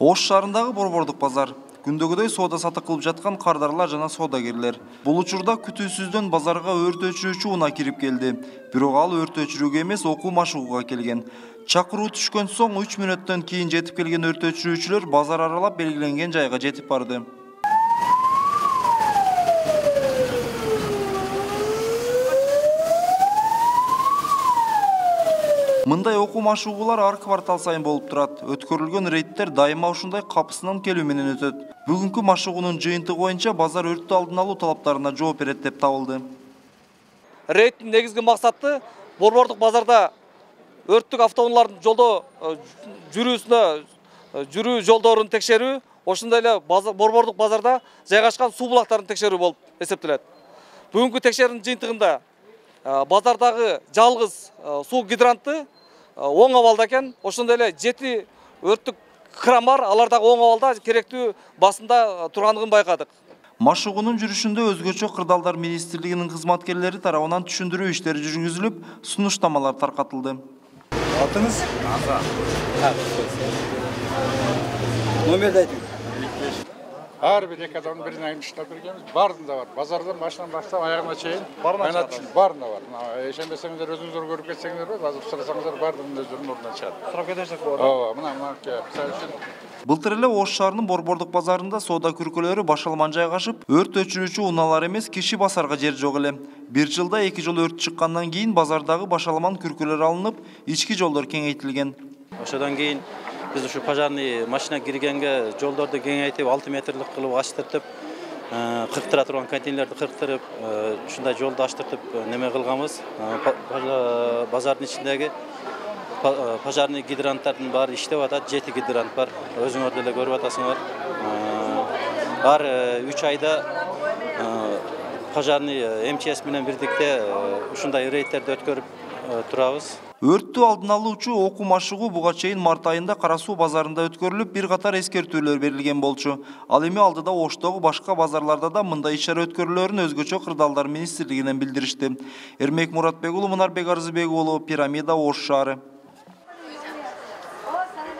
Ош шаарындагы борбордук базар. Күндөгүдөй соода сатык кылып жаткан кардарлар жана соодагерлер. Бул учурда күтүүсүздөн базарга өрт өчүрүүчү унаа кирип келди. Бирок ал өрт өчүрүүгө эмес, окуу машыгууга келген. Чакыруу түшкөн соң 3 мүнөттөн кийин жетип келген өрт өчүрүүчүлөр базар аралап белгиленген жайга жетип барды. Мындай окуу машыгуулар ар квартал сайын болуп турат. Өткөрүлгөн рейдтер дайыма ушундай капысынан келүү менен өтөт. Бүгүнкү машыгуунун жыйынтыгы боюнча базар өрттү алдын алуу талаптарына жооп берет деп табылды. Рейдтин негизги максаты борбордук базарда өрттүк автоунаалардын жолдо жүрүү жолдорун текшерүү, ошондой эле борбордук базарда жайгашкан суу булактарын текшерүү болуп эсептелет. Бүгүнкү текшерүүнүн жыйынтыгында базардагы жалгыз суу гидранты оң абалда экен. Ошондой эле 7 өрттүк кран бар, алар дагы оң абалда керектүү басында турганын байкадык. Машыгуунун жүрүшүндө өзгөчө кырдаалдар министрлигинин кызматкерлери тарабынан түшүндүрүү иштери жүргүзүлүп, сунуштамалар таркатылды. Атыңыз? Номерди айтыңыз. Ар бир эки адамдын бирин айырмаштап бергенбиз. Баарында бар. Базардан башынан баштап аягына чейин баарында бар. Ишенбесеңиздер өзүңүздөр көрүп кетсеңиздер болот. Азыр сурасаңыздар баардыгынын өздөрүнүн ордунан чыгат. Сурап кетсек болот. Ооба, мына мисалы үчүн Былтыр эле Ош шаарынын борбордук базарында соода күркөлөрү башалман жайгашып, өрт өчүрүүчү унаалар эмес, киши басарга жер жок эле. Бир жылда 2 жолу өрт чыккандан кийин базардагы башалман күркөлөр алынып, ички жолдор кеңейтилген. Ошодон кийин биз ушу пожарный машина киргенге жолдорду кеңейтип 6 метрлик кылып ачтыртып, кырктыра турган контейнерлерди кырктырып, ушундай жолду ачтыртып неме кылганбыз. Базардын ичиндеги пожарный гидранттардын баары иштеп атат. 7 гидрант бар. Өзүңөр деле көрүп атасыңар. Ар 3 айда пожарный МЧС менен бирдикте ушундай рейдтерди өткөрүп турабыз. Өрттү алдын алуучу окуу машыгуу буга чейин март айында Кара суу базарында өткөрүлүп, бир катар эскертүүлөр берилген болчу. Ал эми алдыда Оштогу башка базарларда да мындай иш-чара өткөрүлөрүн өзгөчө кырдаалдар министрлигинен билдиришти. Эрмек Муратбек уулу, Мунарбек Арзыбек уулу, Пирамида, Ош шаары.